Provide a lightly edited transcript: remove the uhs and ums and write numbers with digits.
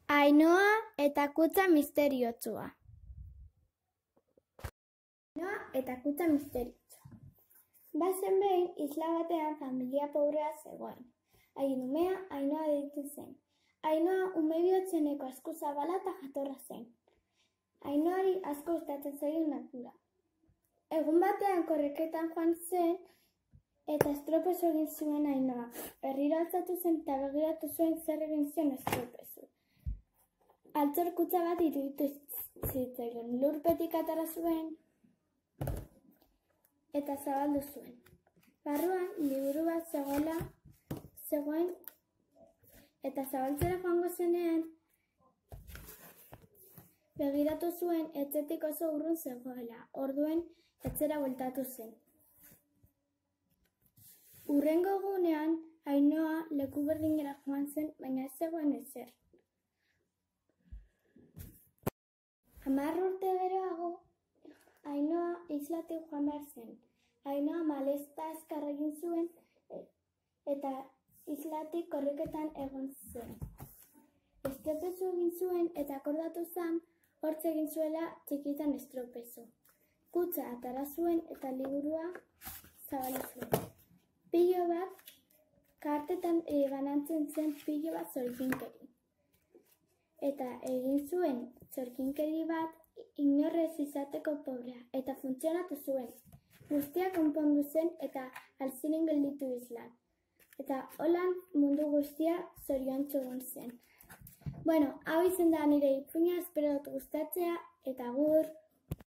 Ainhoa eta kutxa misteriotsua. Ainhoa eta kutxa misteriotsua. Bazen behin, isla batean familia pobrea zegoen. Haien umea Ainhoa deitzen zen. Ainhoa ume bihotzeneko asku zabala eta jatorra zen. Ainhoari asko gustatzen zaio natura. Egun batean korriketan joan zen eta estropezu egin zuen Ainhoa. Herrira altzatu zen eta begiratu zuen zer egin zion estropezu. Altxor kutxa bat iruditu zitzaion. Lurpetik atera zuen eta zabaldu zuen. Barruan liburu bat zegoen eta zabaltzera joango zenean begiratu zuen etxetik oso urrun zegoela. Orduen etxera bueltatu zen. Hurrengo egunean Ainhoa leku berdinera joan zen, baina ez zegoen ezer. 10 urte geroago, Ainhoa islatik joan behar zen. Ainhoa malezta azkar egin zuen eta islatik korriketan egon zen. Estropezu egin zuen eta akordatu zen hortz egin zuela txikitan estropezu. Kutxa atera zuen eta liburua zabaldu zuen. Pilo bat, kartetan banantzen zen pilo bat zorkinkeri. Eta egin zuen zorkinkeri bat inorrez izateko pobrea, eta funtzionatu zuen. Guztia konpondu zen eta alziren gelditu islan. Eta holan mundu guztia zoriontsu egon zen. Bueno, hau izan da nire ipuina, espero dut gustatzea, eta agur!